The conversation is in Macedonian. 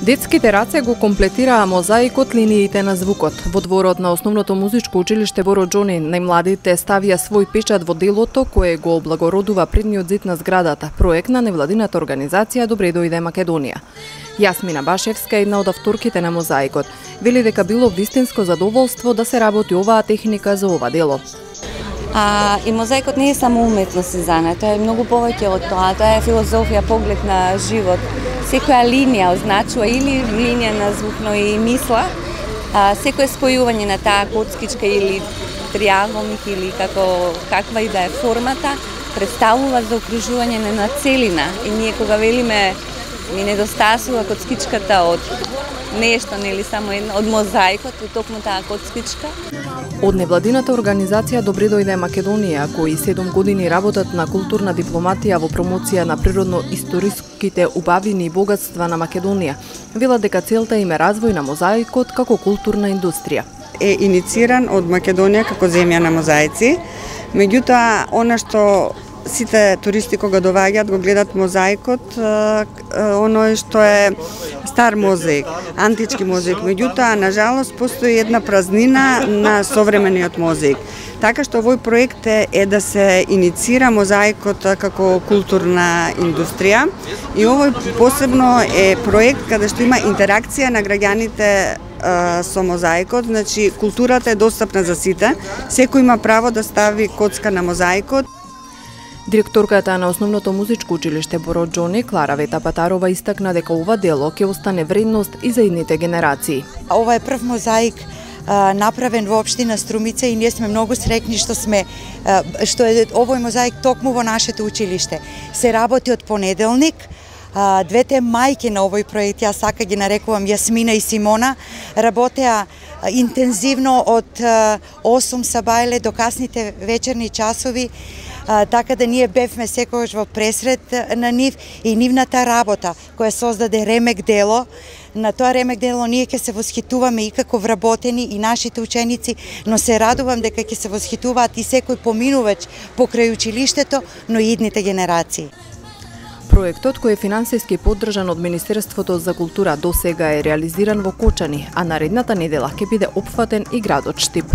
Детските раце го комплетираа мозаикот линиите на звукот. Во дворот на Основното музичко училиште во Роџони најмладите ставија свој печат во делото кое го облагородува предниот зид на зградата, проект на невладината организација Добре дојде Македонија. Јасмина Башевска, една од авторките на мозаикот, вели дека било вистинско задоволство да се работи оваа техника за ова дело. И мозаикот не е само уметност, Сезана, тоа е многу повеќе од тоа, тоа е филозофија, поглед на живот. Секоја линија означува или линија на звук, но и мисла. Секое спојување на таа коцкичка или триаголник или каква и да е формата, представува за окружување на целина. И ние кога велиме ми недостасува коцкичката од нешто, нели само една, од мозаикот, од токму таа коцкичка. Од невладината организација Добре дојде Македонија, кои 7 години работат на културна дипломатија во промоција на природно-историските убавини и богатства на Македонија, велат дека целта им е развој на мозаикот како културна индустрија. Е инициран од Македонија како земја на мозаици, меѓутоа она што сите туристи кога доаѓаат го гледат мозаикот, оној што е стар мозаик, антички мозаик, меѓутоа на жалост постои една празнина на современиот мозаик. Така што овој проект е да се иницира мозаикот како културна индустрија и овој посебно е проект каде што има интеракција на граѓаните со мозаикот, значи културата е достапна за сите, секој има право да стави коцка на мозаикот. Директорката на Основното музичко училиште во Роџони, Клара Вета Патарова, истакна дека ова дело ќе остане вредност и за идните генерации. Ова е прв мозаик направен во општина Струмица и ние сме многу среќни што е овој мозаик токму во нашето училиште. Се работи од понеделник. Двете мајки на овој проект, јас сака ги нарекувам Јасмина и Симона, работеа интензивно од 8 сабајле до касните вечерни часови, така да ние бевме секогаш во пресред на нив и нивната работа која создаде ремек дело. На тоа ремек дело ние ќе се восхитуваме и како вработени и нашите ученици, но се радувам дека ќе се восхитуваат и секој поминувач покрај училиштето, но и идните генерации. Проектот, кој е финансиски поддржан од Министерството за култура, досега е реализиран во Кочани, а наредната недела ќе биде опфатен и градот Штип.